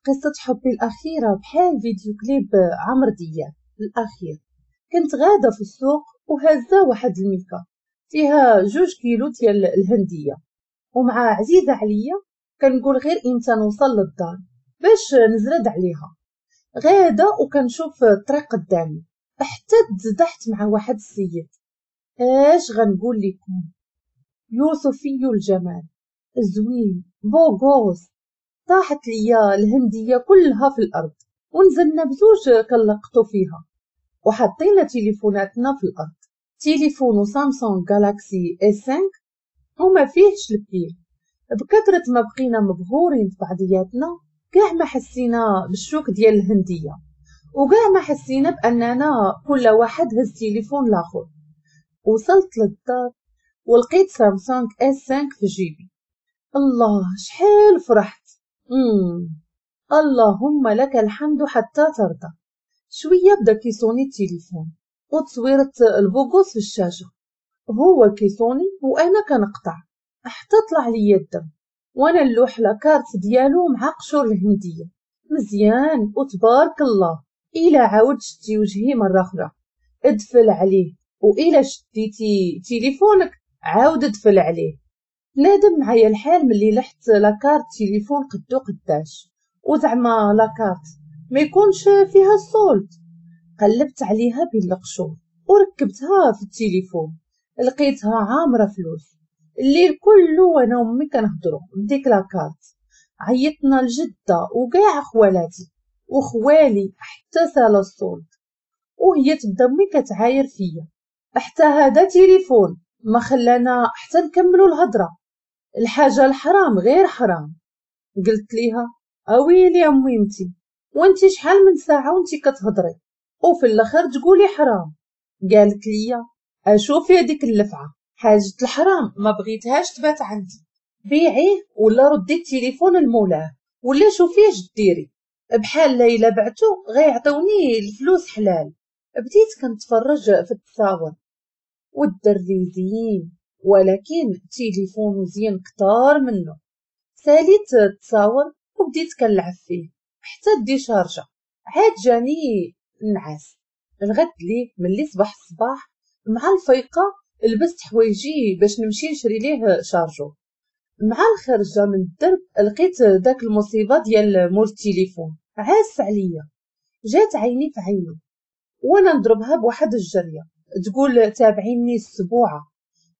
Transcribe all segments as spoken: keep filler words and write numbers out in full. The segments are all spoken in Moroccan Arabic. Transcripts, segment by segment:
قصة حبي الأخيرة بحال فيديو كليب عمرو دياب الأخير. كنت غادة في السوق وهزة واحد الميكا فيها جوج كيلو ديال الهندية، ومع عزيزة عليا كنقول غير امتى نوصل للدار باش نزرد عليها. غادة وكنشوف الطريق قدامي حتى تزدحت مع واحد السيد. اش غنقول لكم، يوسفي الجمال، زوين، beau gosse. طاحت ليا الهندية كلها في الأرض ونزلنا بزوج كنلقطو فيها وحطينا تليفوناتنا في الأرض. تليفون سامسونج جالاكسي إس خمسة وما فيهش ال pile. بكثرة ما بقينا مبهورين في بعضياتنا كاع ما حسينا بالشوك ديال الهندية، وكاع ما حسينا بأننا كل واحد هز تليفون الآخر. وصلت للدار ولقيت سامسونج إس خمسة في جيبي. الله شحال فرحت. مم. اللهم لك الحمد حتى ترضى. شوية بدا كيصوني التليفون وتصويرة ال beau gosse في الشاشة، هو كيصوني وانا كنقطع حتى طلع لي الدم وانا نلوح la carte ديالو مع قشور الهندية مزيان. وتبارك الله الا عاود شتي وجهي مرة اخرى ادفل عليه، والا شديتي تليفونك عاود ادفل عليه. نادم معايا الحال ملي لحت la carte تليفون قدو قداش، وزعما la carte ما يكونش فيها ال solde. قلبت عليها بين القشور وركبتها في التليفون، لقيتها عامرة فلوس. الليل كله وانا وامي كنهضروا بديك la carte. عيطنا لجده وكاع خوالاتي وخوالي حتى سال ال solde، وهي تبدا امي كتعاير فيا حتى هذا تليفون ما خلانا حتى نكملوا الهضرة. الحاجة الحرام غير حرام. قلت ليها اويلي يا ميمتي، وانتي شحال من ساعة وانتي كتهضري وفي الاخر تقولي حرام. قالت لي اشوفي هذيك اللفعه، حاجة الحرام ما بغيتهاش تبات عندي، بيعيه ولا ردي التليفون لمولاه ولا شوفي اش ديري، بحال الا بعتو غيعطوني الفلوس حلال. بديت كنتفرج في التصاور والدري زين، ولكن تليفون زين كتار منه. ساليت التصاور وبديت كنلعب فيه حتى déchargea. عاد جاني النعاس. الغد ليه ملي صباح الصباح مع الفيقه لبست حوايجي باش نمشي نشري ليه chargeur. مع الخرجه من الدرب لقيت داك المصيبة ديال مول التليفون عاس عليا. جات عيني في عيني وانا نضربها بواحد الجريه تقول تابعيني السبوعه.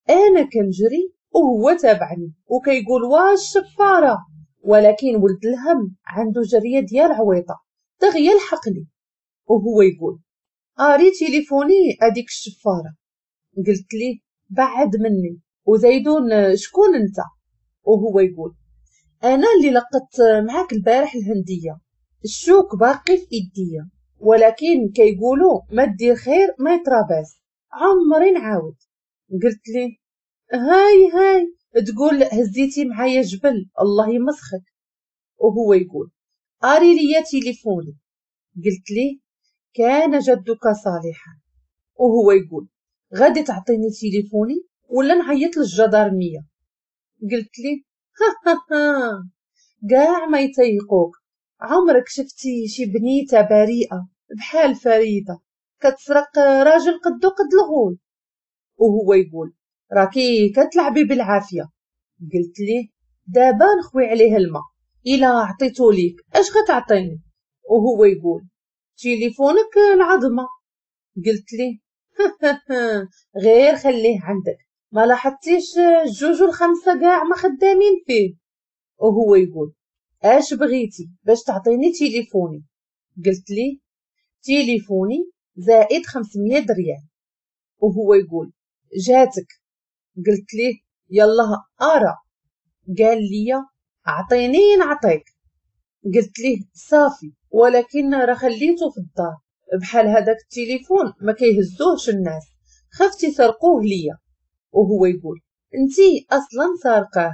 انا كنجري وهو تابعني وكيقول واش الشفاره، ولكن ولد الهم عنده جريه ديال عويطه دغيا لحقني وهو يقول اري تليفوني اديك الشفاره. قلت ليه بعد مني وزيدون شكون انت؟ وهو يقول انا اللي لقطت معاك البارح الهندية، الشوك باقي في ايديا، ولكن كيقولوا ما دير خير ما يتراباس، عمري نعاود. قلت ليه هاي هاي تقول هزيتي معايا جبل الله يمسخك. وهو يقول اري ليا تليفوني. قلت ليه كان جدك صالحا. وهو يقول غادي تعطيني تليفوني ولا نعيط للجدارميه؟ قلت ليه ها ها ها كاع ما يتيقوك، عمرك شفتي شي بنيته بريئة بحال فريدة كتسرق راجل قدو قد الغول؟ وهو يقول راكي كتلعبي بالعافية. قلت ليه دابا نخوي عليه الماء، الا عطيتو ليك اش غتعطيني؟ وهو يقول تليفونك العظمة. قلت ليه غير خليه عندك، ما لاحظتيش الجوج والخمسة كاع ما خدامين فيه؟ وهو يقول اش بغيتي باش تعطيني تليفوني؟ قلت ليه تليفوني زائد خمسمية ريال. وهو يقول جاتك. قلت ليه يلا ارى. قال لي اعطيني نعطيك. قلت ليه صافي، ولكن راه خليته في الدار، بحال هذاك التليفون ما كيهزوهش الناس، خفت يسرقوه ليا. وهو يقول انتي اصلا سارقاه.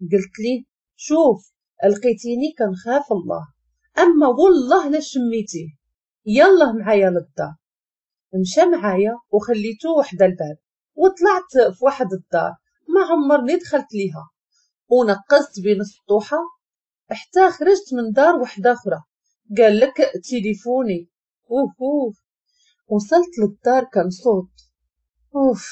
قلت ليه شوف لقيتيني كنخاف الله، اما والله لا شميتيه، يلا معايا للدار. مشى معايا وخليته وحده الباب وطلعت في واحد الدار ما عمرني دخلت ليها، ونقزت بين السطوحه حتى خرجت من دار وحده اخرى قال لك تليفوني. اوف اوف. وصلت للدار كنصوت، اوف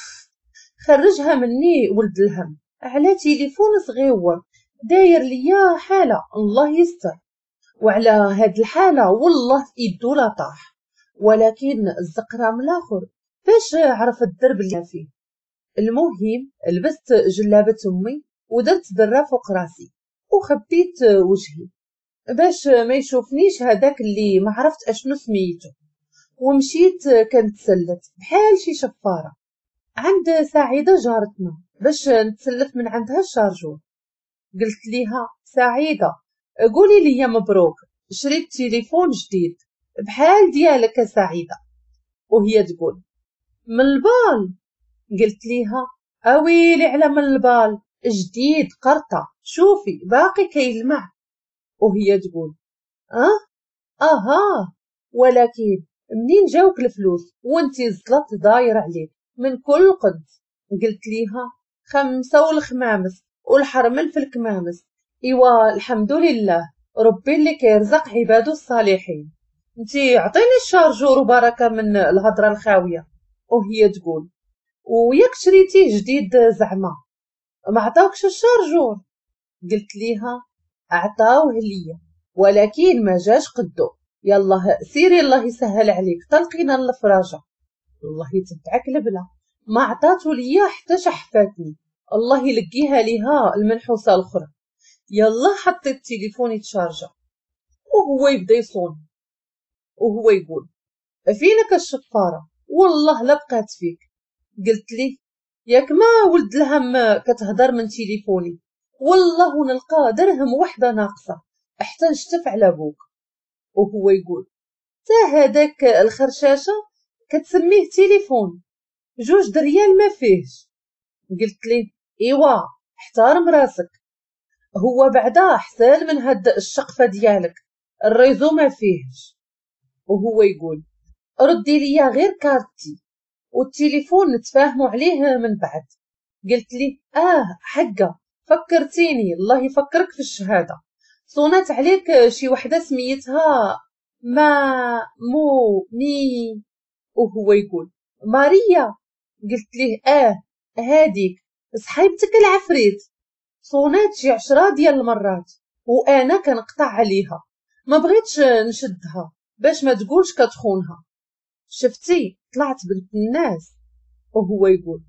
خرجها مني ولد الهم على تليفون صغيور داير ليا حاله، الله يستر. وعلى هاد الحالة والله في ايدو لا طاح، ولكن الزقرام الاخر باش عرف الدرب اللي فيه. المهم لبست جلابه امي ودرت دره فوق راسي وخبيت وجهي باش ما يشوفنيش هذاك اللي ما عرفت اشنو سميتو، ومشيت كنتسلت بحال شي شفاره عند سعيدة جارتنا باش نتسلف من عندها ال chargeur. قلت ليها سعيدة قولي لي مبروك شريت تليفون جديد بحال ديالك سعيدة. وهي تقول من البال. قلت ليها اويلي على من البال، جديد قرطه شوفي باقي كيلمع. وهي تقول اه اها ولكن منين جاوك الفلوس وانتي الزلط داير عليك من كل قد؟ قلت ليها خمسة والخمامس والحرمل في الكمامس. ايوا الحمد لله ربي اللي كيرزق عباده الصالحين، انتي عطيني ال chargeur وبركة من الهضرة الخاويه. وهي تقول وياك شريتيه جديد زعما ما عطاوكش ال chargeur؟ قلت ليها عطاوه ليا ولكن ما جاش قدو، يلا سيري الله يسهل عليك طلقينا الفراجه. الله يتبعك البلا، ما عطاتو ليا حتى شحفاتني، الله يلقيها ليها المنحوسه الاخرى. يلا حطيت التليفون يتشارجا وهو يبدا يصون وهو يقول فينك الشفاره والله لا بقات فيك. قلت ليه ياك ما ولد الهم كتهضر من تليفوني، والله نلقى درهم وحده ناقصه حتى نشتف على بوك. وهو يقول تا هذاك الخرشاشه كتسميه تليفون جوج دريال ما فيهش. قلت ليه ايوا احترم راسك، هو بعدا احسن من هاد الشقفه ديالك ال réseau ما فيهش. وهو يقول ردي ليا غير كارتي والتليفون نتفاهموا عليه من بعد. قلت لي اه حقه فكرتيني الله يفكرك في الشهادة، صونات عليك شي وحده سميتها ما مو مي. وهو يقول ماريا. قلت ليه اه هاديك صحيبتك العفريت، صونات شي عشرة ديال المرات وانا كنقطع عليها ما بغيتش نشدها باش ما تقولش كتخونها، شفتي طلعت بنت الناس. وهو يقول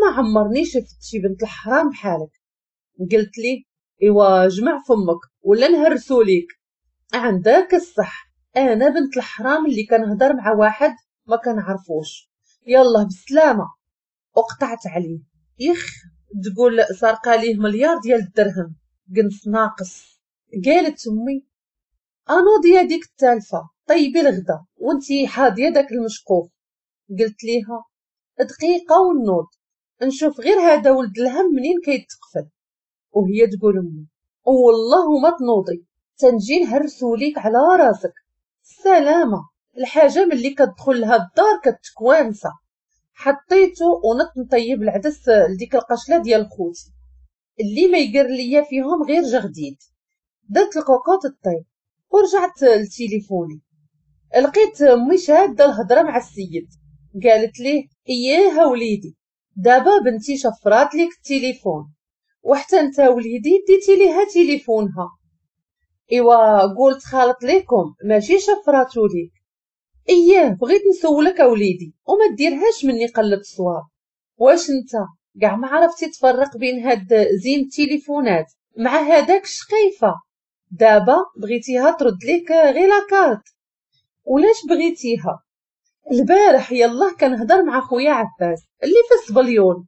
ما عمرني شفت شي بنت الحرام بحالك. قلت لي ايوا جمع فمك ولا نهرسو ليك، عندك الصح انا بنت الحرام اللي كنهضر مع واحد ما كنعرفوش، يلا بالسلامة. وقطعت عليه. يخ تقول سرقه ليه مليار ديال الدرهم قنص ناقص. قالت امي انوضي يا ديك التالفه طيبي الغدا وانتي حاضيه داك المشقوف. قلت ليها دقيقة ونوض نشوف غير هذا ولد الهم منين كيتقفل. وهي تقول امي والله ما تنوضي تنجي نهرسو ليك على راسك. السلامة الحاجة ملي كتدخل لها الدار كتكوانسه. حطيته ونط نطيب العدس لديك القشله ديال خوتي اللي ما يقر ليا فيهم غير جغديد. درت الكوكوط الطيب ورجعت لتليفوني، لقيت امي شاده الهضرة مع السيد. قالت ليه اياها وليدي دابا بنتي شفرات ليك التليفون وحتى انت وليدي ديتي ليها تليفونها. ايوا قلت خالط ليكم ماشي شفراتو ليك. اياه بغيت نسولك اوليدي وما ديرهاش مني قلة الصواب، واش انت كاع ما عرفتي تفرق بين هاد زين التليفونات مع هذاك الشقيفه؟ دابا بغيتيها ترد ليك غير la carte، ولاش بغيتيها؟ البارح يلاه كنهضر مع خويا عباس اللي في السبليون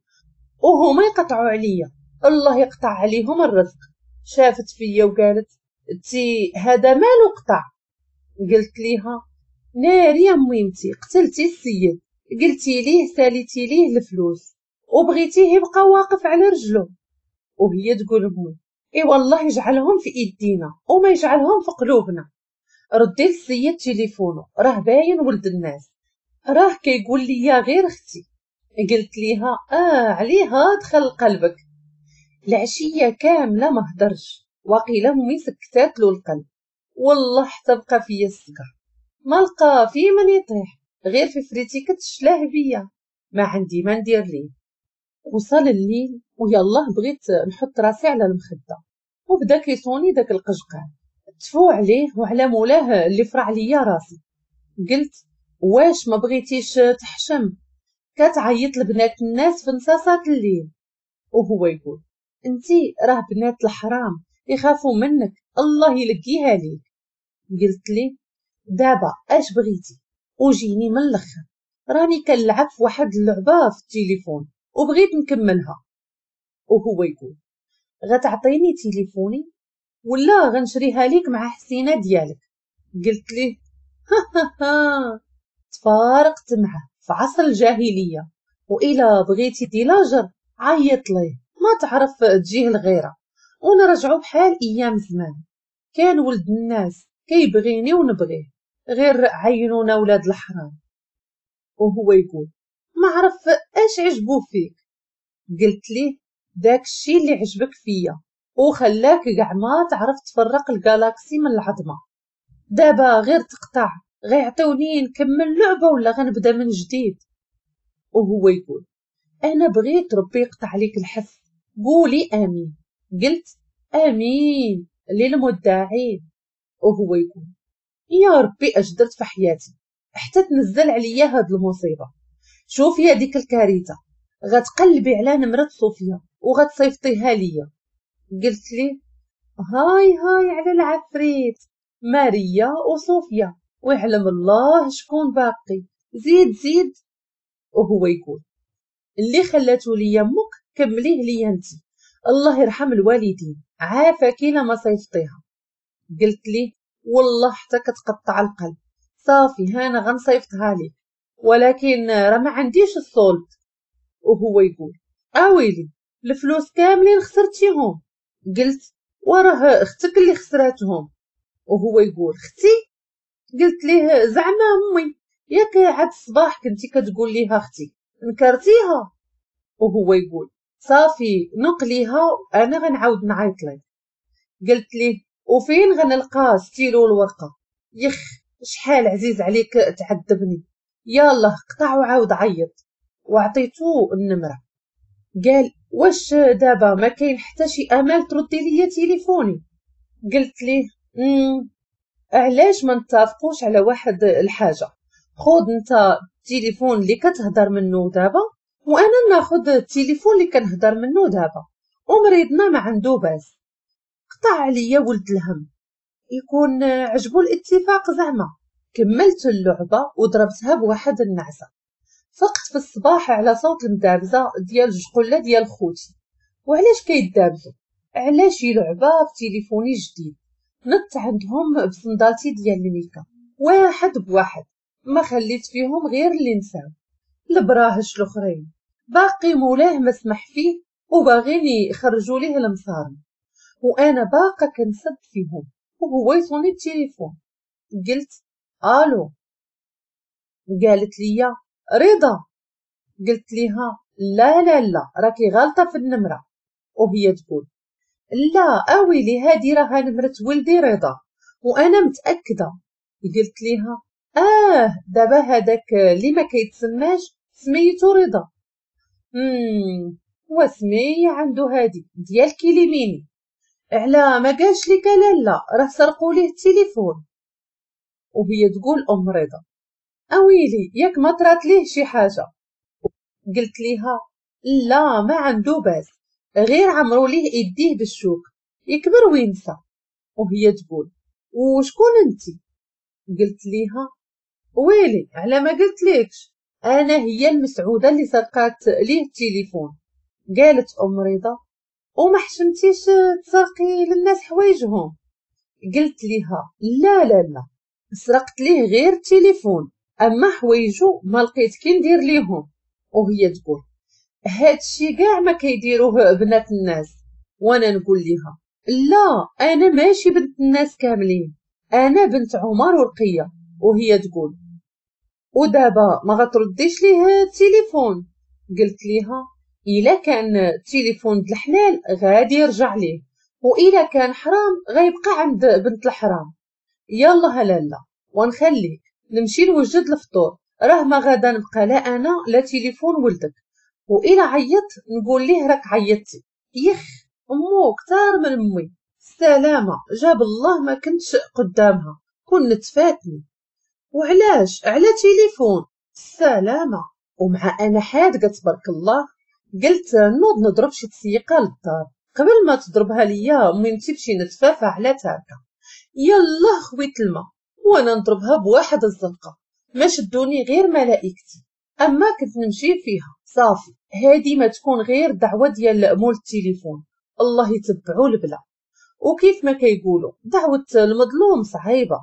وهما يقطعوا عليا، الله يقطع عليهم الرزق. شافت فيا وقالت تي هذا مالو قطع؟ قلت ليها ناري يا ميمتي قتلتي السيد، قلتي ليه ساليتي ليه الفلوس وبغيتيه يبقى واقف على رجله. وهي تقول امي اي والله يجعلهم في ايدينا وما يجعلهم في قلوبنا. ردي للسيد تليفونه راه باين ولد الناس، راه كيقول لي غير اختي. قلت ليها اه عليها دخل قلبك. العشية كاملة ما هدرش وقيله امي سكتات له القلب. والله حتى بقى فيا السكر، ما لقى في من يطيح غير في فريتيكة الشلاهبيه، ما عندي ما ندير ليه. وصل الليل ويالله بغيت نحط راسي على المخدة وبدا كيصوني داك القجقال، تفو عليه وعلى مولاه اللي فرع ليا راسي. قلت واش ما بغيتيش تحشم كتعيط لبنات الناس في نصاصات الليل؟ وهو يقول انتي راه بنات الحرام يخافوا منك، الله يلقيها ليك. قلت لي دابا اش بغيتي؟ وجيني من الاخر، راني كنلعب في واحد اللعبة في التليفون وبغيت نكملها. وهو يقول غتعطيني تليفوني ولا غنشريها ليك مع حسينه ديالك؟ قلت ليه ها ها ها. تفارقت معه في عصر الجاهلية، وإلا بغيتي ديلاجر عيط ليه، ما تعرف تجيه الغيرة، ونرجعو بحال ايام زمان. كان ولد الناس كيبغيني ونبغيه، غير عينونا ولاد الحرام. وهو يقول ما عرف اش عجبو فيك. قلت ليه داك الشي اللي عجبك فيا وخلاك كاع ما تعرف تفرق الجالاكسي من العظمة. دابا غير تقطع غيعطوني نكمل لعبه ولا غنبدا من جديد؟ وهو يقول انا بغيت ربي يقطع ليك الحس، قولي امين. قلت امين للمدعين. وهو يقول يا ربي اش درت في حياتي حتى تنزل عليا هاد المصيبة. شوفي هذيك الكارثة، غتقلبي على نمره صوفيا وغتصيفطيها ليا. قلت لي هاي هاي على العفريت، ماريا وصوفيا ويعلم الله شكون باقي، زيد زيد. وهو يقول اللي خلاتو ليا امك كمليه ليا انتي، الله يرحم الوالدين، عافاك الا ما صيفطيها. قلت لي والله حتى كتقطع القلب، صافي هانا غنصيفطها لك، ولكن راه ما عنديش ال solde. وهو يقول اويلي الفلوس كاملين خسرتيهم. قلت وراه اختك اللي خسراتهم. وهو يقول اختي؟ قلت ليه زعما امي، ياك عاد الصباح كنتي كتقول ليها اختي، نكرتيها. وهو يقول صافي نقليها انا غنعاود نعيط لك. قلت ليه وفين غنلقى ستيلو الورقة؟ يخ شحال عزيز عليك تعذبني، يلا قطع وعاود عيط. وعطيتو النمرة. قال واش دابا ما كاين حتى شي امل تردي ليا تليفوني؟ قلت ليه امم علاش ما نتفقوش على واحد الحاجة، خذ انت التليفون اللي كتهضر منه دابا وانا ناخذ التليفون اللي كنهضر منه دابا، ومريضنا ما عنده باس. قطع عليا ولد الهم، يكون عجبو الاتفاق زعما. كملت اللعبة وضربتها بواحد النعسه. فقت في الصباح على صوت المدابزه ديال الجقله ديال خوتي. وعلاش كيدابزو؟ علاش شي لعبه في تليفوني جديد؟ نط عندهم بصندالتي ديال الميكا واحد بواحد، ما خليت فيهم غير اللي نساو. البراهش الاخرين باقي مولاه ما سمح فيه وباغيين يخرجوا ليه المصارم، وانا باقا كنسد فيهم وهو يصوني التليفون. قلت الو. قالت لي رضا. قلت ليها لا لا لا راكي غلطه في النمرة. وهي تقول لا اويلي هادي راها نمره ولدي رضا وانا متاكدة. قلت ليها اه دابا هذاك اللي ما كيتسماش سميتو رضا. امم وسميه عنده هادي ديال كيليميني، على ما قالش لك لا راه سرقوا ليه التليفون. وهي تقول ام رضا اويلي ياك ما طرات ليه شي حاجة. قلت ليها لا ما عنده باس، غير عمرو ليه ايديه بالشوك يكبر وينسى. وهي تقول وشكون انتي؟ قلت ليها ويلي على ما قلت ليكش، انا هي المسعوده اللي سرقات ليه التليفون. قالت ام رضا وما حشمتيش تسرقي للناس حوايجهم؟ قلت ليها لا لا لا سرقت ليه غير التليفون، اما حوايجو ما لقيت كي ندير ليهم. وهي تقول هادشي كاع ما كيديروه بنات الناس. وانا نقول ليها لا انا ماشي بنت الناس كاملين، انا بنت عمر ورقية. وهي تقول ودابا ما غترديش ليه التليفون؟ قلت ليها الا كان التليفون د الحلال غادي يرجع ليه، وإلا كان حرام غيبقى عند بنت الحرام. يلا لالا ونخليك نمشي نوجد الفطور، راه ما غادا نبقى لا انا لا تليفون ولدك، وإلا عيط نقول ليه راك عيطتي. يخ امو كتار من امي، السلامة جاب الله ما كنتش قدامها كنت فاتني. وعلاش على تليفون؟ السلامة. ومع انا حادقه تبارك الله قلت نوض نضرب شي تسيقه للدار قبل ما تضربها ليا ميمتي بشي نتفافه على تاركه. يلا خويت الماء وانا نضربها بواحد الزنقة ما شدوني غير ملائكتي، اما كنت نمشي فيها صافي. هادي ما تكون غير دعوه ديال مول التليفون، الله يتبعو البلا. وكيف ما كيقولوا دعوه المظلوم صعيبة،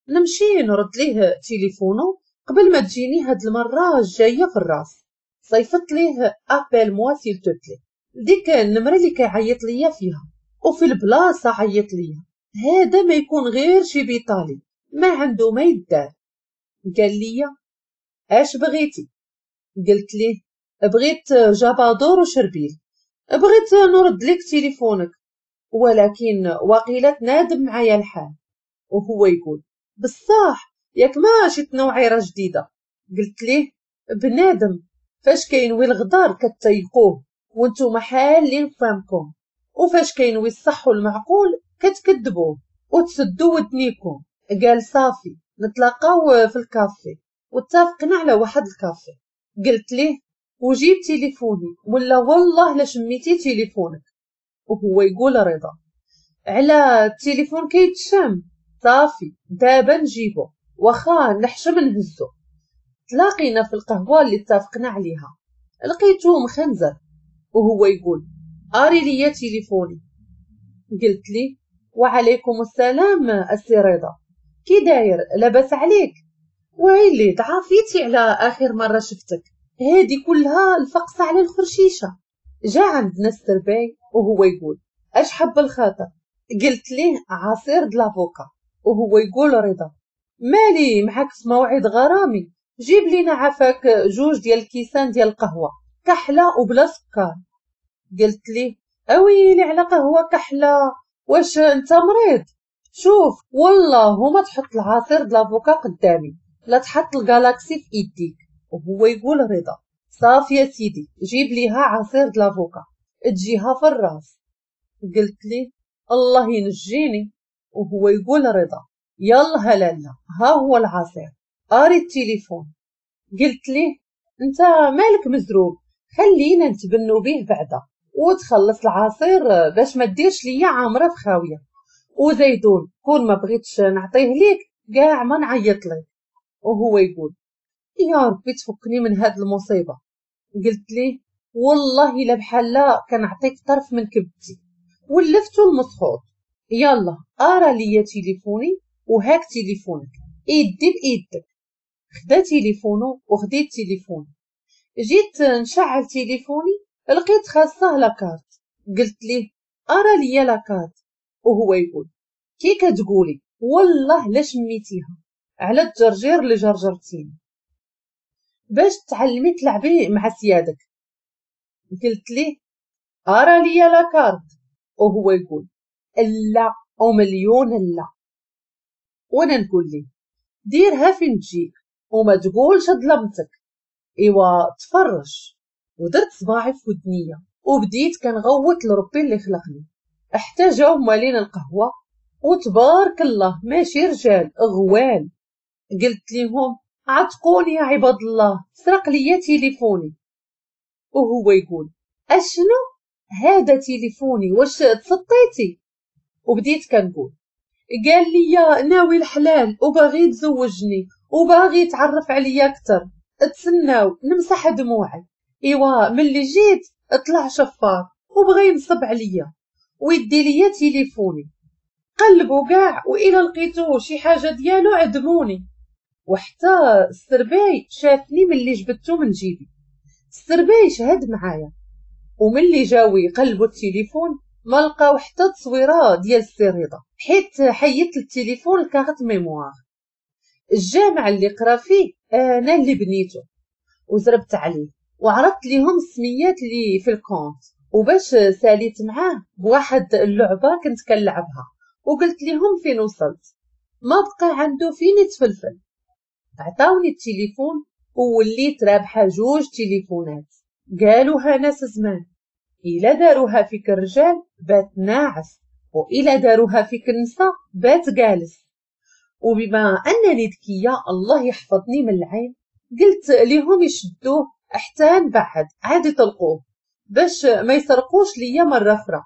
نمشي نرد ليه تليفونو قبل ما تجيني هاد المرة الجاية في الراس. صيفط ليه appelle-moi s'il te plaît، ديك النمرة اللي كيعيط ليا فيها، وفي البلاصة عيط ليا. هذا ما يكون غير شي بيطالي ما عنده ما يدار. قال لي اش بغيتي؟ قلت ليه بغيت جابادور وشربيل، بغيت نرد لك تليفونك، ولكن وقيلة تنادم معايا الحال. وهو يقول بصح ياك ما شي تنوعيره جديدة؟ قلت ليه بنادم فاش كينوي الغدار كتيقوه وانتم حالين فهمكم، وفاش كينوي الصح والمعقول كتكذبوه وتسدوا ودنيكم. قال صافي نتلاقاو في الكافي، واتفقنا على واحد الكافي. قلت ليه وجيب تليفوني ولا والله لا شميتي تليفونك. وهو يقول رضا على التليفون كيتشم، صافي دابا نجيبو واخا نحشم نهزو. تلاقينا في القهوة اللي اتفقنا عليها، لقيتو مخنزر وهو يقول اري ليا تليفوني. قلت لي وعليكم السلام السي رضا، كي داير لاباس عليك؟ ويلي ضعفيتي على اخر مرة شفتك، هادي كلها الفقصه على الخرشيشه. جا عندنا السرباي وهو يقول اش حب الخاطر؟ قلت ليه عصير د l'avocat. وهو يقول رضا مالي معاك في موعد غرامي، جيب لينا عافاك جوج ديال الكيسان ديال القهوة كحلة وبلا سكر. قلت ليه اويلي على قهوة كحلة، واش انت مريض؟ شوف والله ما تحط العصير د l'avocat قدامي، لا تحط الجالاكسي في ايديك. وهو يقول رضا صافي يا سيدي جيب ليها عصير د l'avocat تجيها في الراس. قلت ليه الله ينجيني. وهو يقول رضا يلا لالا ها هو العصير، اري التليفون. قلت ليه انت مالك مزروب، خلينا نتبنوا به بعدا وتخلص العصير باش ما ديرش ليا عامرة في خاوية، وزيدون كون ما بغيتش نعطيه ليك كاع ما نعيط لك. وهو يقول يا ربي تفكني من هاد المصيبة. قلت ليه والله الا بحال لا كنعطيك طرف من كبدتي، ولفتو المسخوط. يلا ارى ليا تليفوني وهاك تليفونك ايدي بايدك. خدا تليفونو وخديت تليفوني، جيت نشعل تليفوني لقيت خاصة la carte. قلت ليه ارى ليا la carte. وهو يقول كي كتقولي والله لا شميتيها على الجرجير اللي جرجرتيني باش تعلمي تلعبي مع سيادك. قلت ليه ارى ليا la carte. وهو يقول لا او مليون لا. وانا نقول ليه ديرها فين تجيك وما تقولش ظلمتك. ايوا تفرج. ودرت صباعي في ودنيه وبديت كنغوت لربي اللي خلقني حتى جاو مالين القهوة وتبارك الله ماشي رجال غوال. قلت لهم عتقوني يا عباد الله، سرق ليا تليفوني. وهو يقول اشنو هذا تليفوني واش تسطيتي؟ وبديت كنقول قال لي ناوي الحلال وباغي يتزوجني وباغي يتعرف عليا اكثر، تسناو نمسح دموعي. ايوا ملي جيت طلع شفار وبغى ينصب عليا ويدي ليا تليفوني. قلبوا كاع والى لقيتو شي حاجة ديالو عدموني. وحتى السرباي شافني ملي جبدتو من جيبي، السرباي شهد معايا. وملي جاو يقلبوا التليفون ما لقاو حتى تصويره ديال السي رضا، حيت حيدت التليفون ال carte mémoire. الجامع اللي قرا فيه انا اللي بنيته وزربت عليه وعرضت ليهم السميات اللي في ال compte، وباش ساليت معاه بواحد اللعبة كنت كنلعبها وقلت لهم فين وصلت، ما بقى عنده فين يتفلفل. عطاوني التليفون ووليت رابحه جوج تليفونات. قالوها ناس زمان، إلا داروها فيك الرجال بات ناعس، وإلا داروها فيك النساء بات جالس. وبما أنني ذكية الله يحفظني من العين، قلت لهم يشدوه حتى نبعد عاد يطلقوه باش ما يسرقوش ليا مرة أخرى.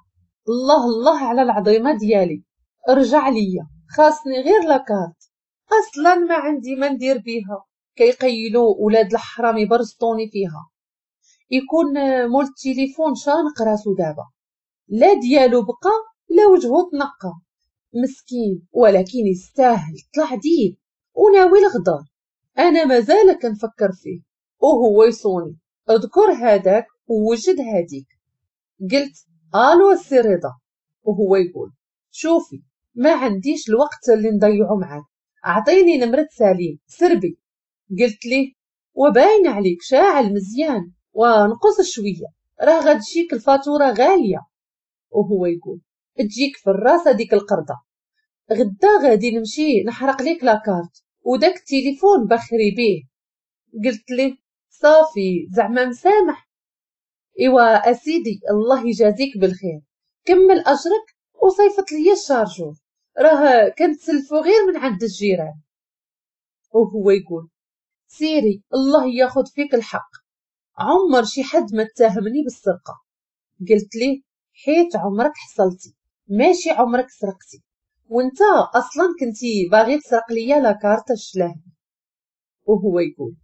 الله الله على العظيمة ديالي، رجع ليا، خاصني غير la carte، أصلا ما عندي ما ندير بيها، كيقيلوا ولاد الحرام يبرزطوني فيها. يكون مول التليفون شانق راسو دابا، لا ديالو بقى لا وجهو تنقى، مسكين ولكن يستاهل، طلع ديب وناوي الغدار. انا مازال كنفكر فيه وهو يصوني، اذكر هذاك ووجد هذيك. قلت الو السي رضا، وهو يقول شوفي ما عنديش الوقت اللي نضيعو معاك، اعطيني نمرة سليم سربي. قلت ليه وباين عليك شاعل مزيان ونقص شوية، راه غتجيك الفاتورة غالية. وهو يقول تجيك في الراس هذيك القردة، غدا غادي نمشي نحرق ليك la carte وداك التليفون بخري بيه. قلت ليه صافي زعما مسامح. ايوا اسيدي الله يجازيك بالخير، كمل اجرك وصيفط ليا ال chargeur، راه كنتسلفو غير من عند الجيران. وهو يقول سيري الله ياخد فيك الحق، عمر شي حد ما اتهمني بالسرقة. قلت ليه حيت عمرك حصلتي ماشي عمرك سرقتي، وانت اصلا كنتي باغي تسرق ليا la carte الشلاهبي. وهو يقول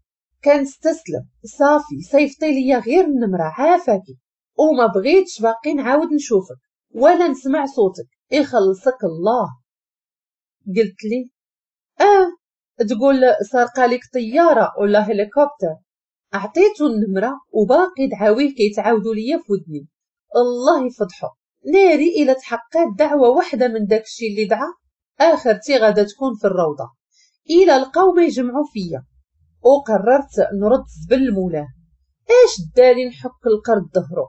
كان استسلم صافي، صيفطي ليا غير النمرة عافاكي، وما بغيتش باقي نعاود نشوفك ولا نسمع صوتك، يخلصك الله. قلت لي اه تقول سرقه لك طيارة ولا هليكوبتر. اعطيته النمرة وباقي دعاويه كيتعاودوا ليا في ودني، الله يفضحو ناري الى تحققت دعوه واحدة من داكشي اللي دعا، اخرتي غادا تكون في الروضة الى لقاو ما يجمعوا فيا. وقررت نرد زبل لمولاه، اش داني نحك القرد ظهرو.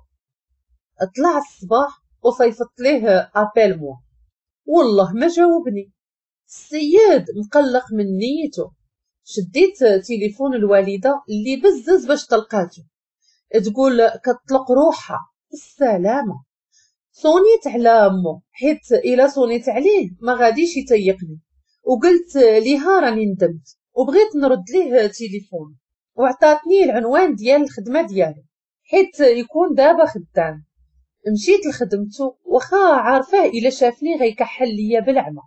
طلع الصباح وصيفط ليه appelle-moi، والله ما جاوبني. السيد مقلق من نيته. شديت تليفون الوالدة اللي بزز باش طلقاتو، تقول كتطلق روحها السلامة. صونيت على امو حيت الا صونيت عليه ما غاديش يتيقني، وقلت ليها راني ندمت وبغيت نرد ليه تليفون، وعطاتني العنوان ديال الخدمة ديالو حيت يكون دابا خدام. مشيت لخدمته واخا عارفاه الا شافني غيكحل ليا بالعمى.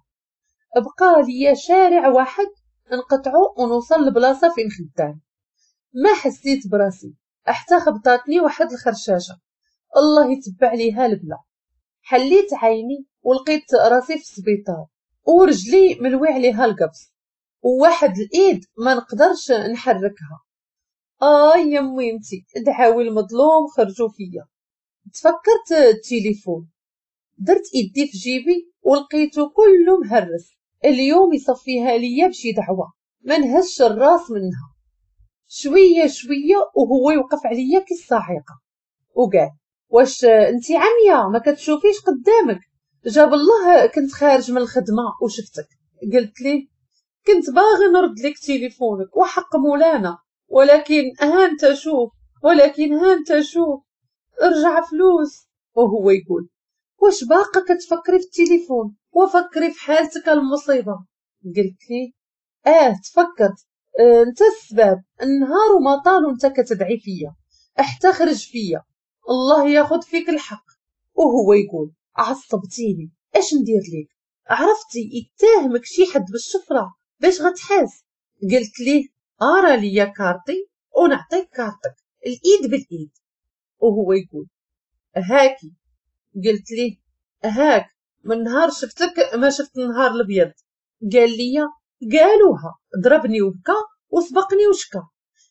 بقى ليا شارع واحد نقطعو ونوصل لبلاصه فين خدام. ما حسيت براسي حتى خبطاتني واحد الخرشاشه، الله يتبع ليها البلا. حليت عيني ولقيت راسي في السبيطار ورجلي ملوي عليها القبص وواحد الايد ما نقدرش نحركها. آه يا ميمتي دعاوي المظلوم خرجوا فيا. تفكرت التليفون، درت ايدي في جيبي ولقيته كله مهرس. اليوم يصفيها ليا بشي دعوه ما نهزش الراس منها. شوية شوية وهو يوقف عليا كي الصاعقة وقال واش انت عمية ما كتشوفيش قدامك؟ جاب الله كنت خارج من الخدمة وشفتك. قلت ليه كنت باغي نرد لك تليفونك وحق مولانا، ولكن ها انت شوف، ولكن ها انت شوف، ارجع فلوس. وهو يقول واش باقا كتفكري في التليفون وفكري في حالتك المصيبة؟ قلت ليه اه تفكرت، اه انت السبب، النهار وما طال وانت كتدعي فيا حتى خرج فيا، الله ياخذ فيك الحق. وهو يقول عصبتيني، اش ندير لك؟ عرفتي يتهمك شي حد بالشفره باش غتحاس. قلت ليه ارى ليا كارتي ونعطيك كارتك الايد بالايد. وهو يقول هاكي. قلت ليه هاك، من نهار شفتك ما شفت النهار الابيض. قال لي قالوها، ضربني وبكى وسبقني وشكى.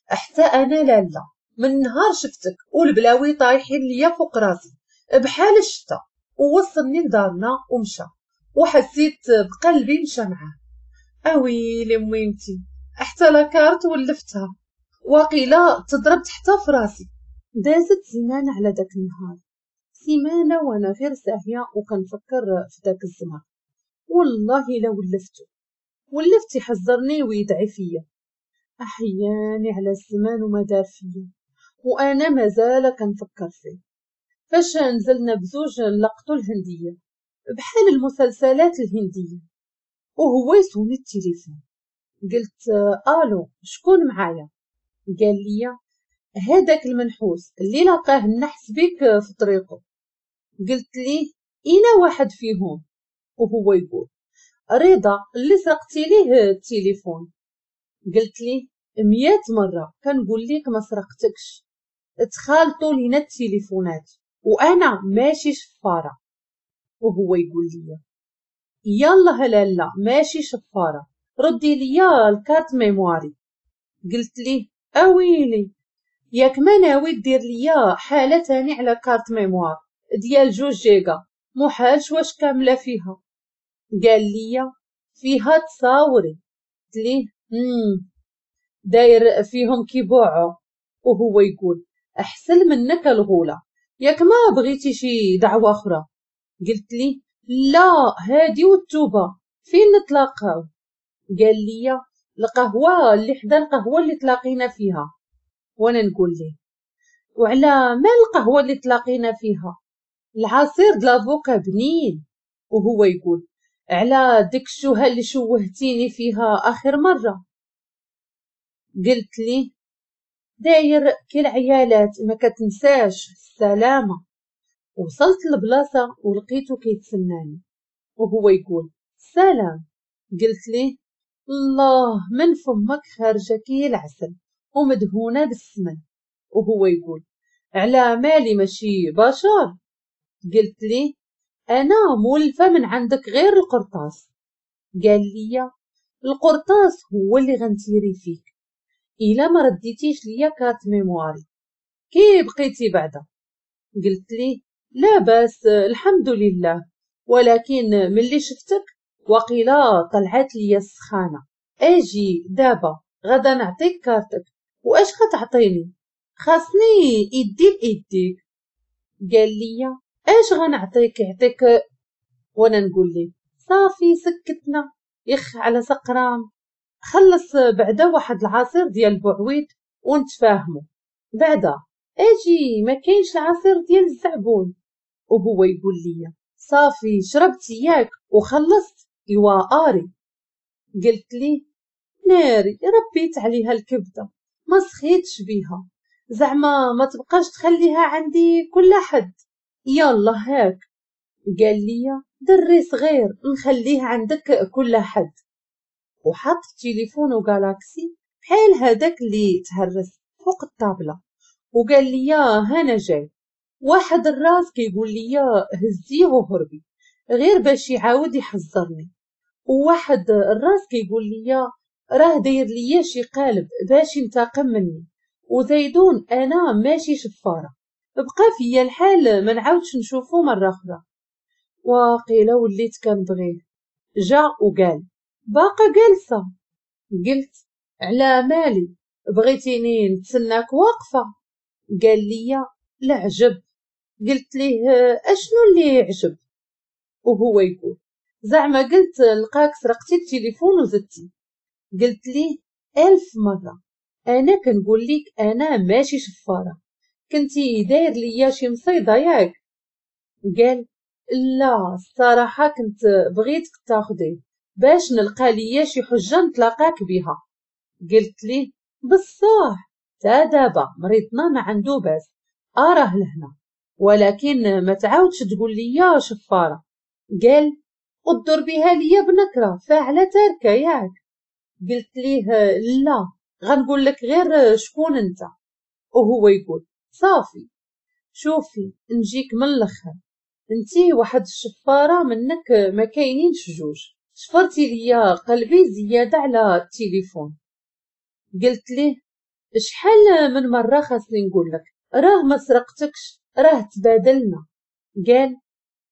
حتى انا لالا من نهار شفتك والبلاوي طايحين ليا فوق راسي بحال الشتا. ووصلني لدارنا ومشى، وحسيت بقلبي مشى معاه. اويلي ميمتي حتى la carte ولفتها، وقيله تضربت حتى في راسي. دازت سيمانه على داك النهار، سيمانه وانا غير ساهيه وكنفكر في داك الزمر. والله الا ولفتو، ولفت يحذرني ويدعي فيا. احياني على الزمان وما دار فيا، وانا مازال كنفكر فيه. فاش نزلنا بزوج لقطو الهندية بحال المسلسلات الهندية، وهو يصوني التليفون. قلت الو شكون معايا؟ قال لي هذاك المنحوس اللي لقاه النحس بك في طريقه. قلت ليه انا واحد فيهم؟ وهو يقول رضا اللي سرقتي ليه التليفون. قلت ليه مية مرة كنقول لك ما سرقتكش، تخالطوا لينا التليفونات وانا ماشي شفاره. وهو يقول لي يلا لالا ماشي شفاره، ردي ليا ال carte mémoire. قلت ليه اويلي ياك ما ناوي دير ليا حاله تاني على carte mémoire ديال جوج جيجا، محالش واش كاملة فيها. قال لي فيها تصاوري. قلت ليه امم داير فيهم كيبوعو. وهو يقول احسن منك الغولة، ياك ما بغيتي شي دعوه اخرى؟ قلت لي لا هادي والتوبة، فين نتلاقاو؟ قال لي القهوة اللي حدا القهوة اللي تلاقينا فيها. وانا نقول ليه وعلى ما القهوة اللي تلاقينا فيها؟ العصير د l'avocat بنين. وهو يقول على ديك الشوهه اللي شوهتيني فيها اخر مرة. قلت ليه داير كي العيالات ما كتنساش السلامة. وصلت للبلاصه ولقيته كيتسناني وهو يقول سلام. قلت ليه الله من فمك خارجه كي العسل ومدهونه بالسمن. وهو يقول على مالي ماشي بشر. قلت ليه انا مولفه من عندك غير القرطاس. قال لي القرطاس هو اللي غنتيري فيك الا ما رديتيش ليا carte mémoire. كي بقيتي بعدا؟ قلت ليه لا باس الحمد لله، ولكن ملي شفتك وقيلا طلعت ليا السخانه. اجي دابا غدا نعطيك كارتك. واش غتعطيني؟ خاصني يدي بايديك. قال لي اش غنعطيك؟ يعطيك. وانا نقول ليه صافي سكتنا يخ على سقرام، خلص بعدا واحد العصير ديال البعويد ونتفاهموا بعدا. اجي ما كاينش العصير ديال الزعبون. وهو يقول لي صافي شربت ياك وخلصت ايوا اري. قلت ليه ناري ربيت عليها الكبده ما سخيتش بيها، زعما ما تبقاش تخليها عندي كل حد، يلا هاك. قال لي دري صغير نخليه عندك كل حد. وحط تليفونه جالاكسي بحال هذاك اللي تهرس فوق الطابله وقال لي هانا جاي. واحد الراس كيقول لي هزيه وهربي غير باش يعاود يحذرني، وواحد الراس كيقول لي راه داير ليا شي قالب باش ينتقم مني، وزيدون انا ماشي شفاره. بقى فيا الحال ما نعاودش نشوفو مرة اخرى. واقيلا وليت كنبغيه. جا وقال باقا جالسة. قلت على مالي بغيتيني نتسناك واقفة؟ قال لي لا عجب. قلت ليه اشنو اللي عجب؟ وهو يقول زعما قلت لقاك سرقتي التليفون وزدتي. قلت ليه ألف مرة انا كنقول لك انا ماشي شفاره، كنتي داير ليا شي مصيده ياك؟ قال لا الصراحة كنت بغيتك تاخديه باش نلقى ليا شي حجه نتلاقاك بها. قلت ليه بصح تا دابا مريضنا ما عنده باس اراه لهنا، ولكن ما تعاودش تقول ليا شفاره. قال قدر بها ليا بنكره فاعله تاركه ياك؟ قلت ليه لا غنقول لك غير شكون انت. وهو يقول صافي شوفي نجيك من الاخر، انتي واحد الشفاره منك ما كاينينش جوج، شفرتي ليا قلبي زيادة على التليفون. قلت ليه شحال من مرة خاصني نقول لك راه ما سرقتكش راه تبادلنا. قال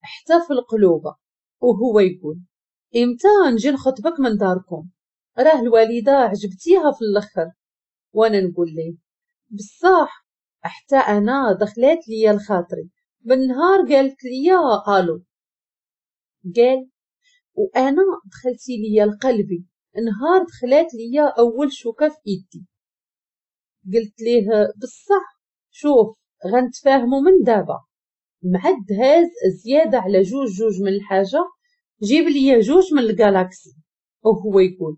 حتى في القلوبه. وهو يقول امتى نجي نخطبك من داركم؟ راه الوالدة عجبتيها في الاخر. وانا نقول ليه بصح حتى انا دخلات ليا الخاطري بالنهار قالت لي الو. قال وانا دخلتي ليا لقلبي نهار دخلات ليا اول شوكه في ايدي. قلت ليه بصح شوف غنتفاهموا من دابا، مع الدهاز زيادة على جوج جوج من الحاجة جيب ليا جوج من الجالاكسي. وهو يقول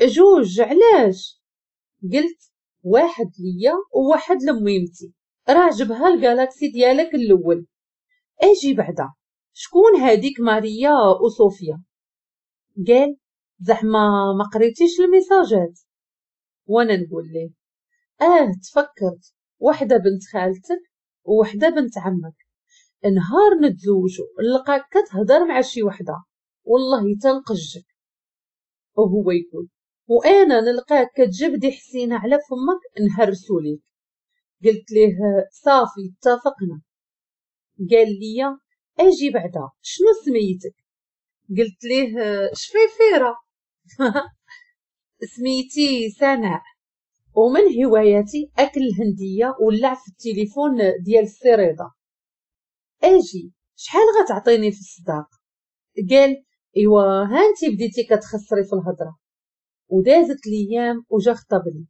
جوج علاش؟ قلت واحد ليا وواحد لميمتي، راه جبها الجالاكسي ديالك الاول. اجي بعدا شكون هاديك ماريا وصوفيا؟ قال زعما ما قريتيش الميساجات. وانا نقول ليه اه تفكرت، وحده بنت خالتك ووحده بنت عمك، نهار نتزوجوا نلقاك كتهضر مع شي وحده والله تنقجك. وهو يقول وانا نلقاك كتجبدي حسينه على فمك نهرسو ليك. قلت ليه صافي اتفقنا. قال لي اجي بعدا شنو سميتك؟ قلت ليه شفيفيره. سميتي سناء، ومن هواياتي اكل الهندية واللعب في التليفون ديال السريضه. اجي شحال غتعطيني في الصداق؟ قال ايوا هانتي بديتي كتخسري في الهضرة. ودازت الايام وجا خطبني،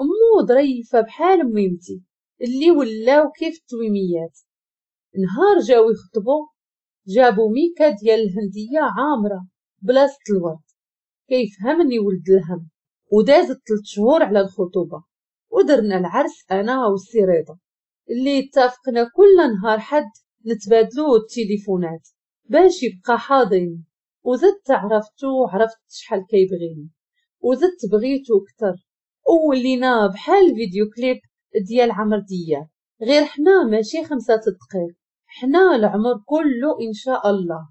امو ظريفة بحال ميمتي اللي ولاو كيف التويميات. نهار جاو يخطبو جابو ميكا ديال الهندية عامرة بلاصة الورد، كيفهمني ولد الهم. ودازت ثلاث شهور على الخطوبة ودرنا العرس انا والسريضه اللي اتفقنا كل نهار حد نتبادلو التليفونات باش يبقى حاضرين. وزدت عرفتو وعرفت شحال كيبغيني وزدت بغيتو اكثر، وولينا بحال فيديو كليب ديال عمرو دياب، غير حنا ماشي خمسة دقائق، حنا العمر كله ان شاء الله.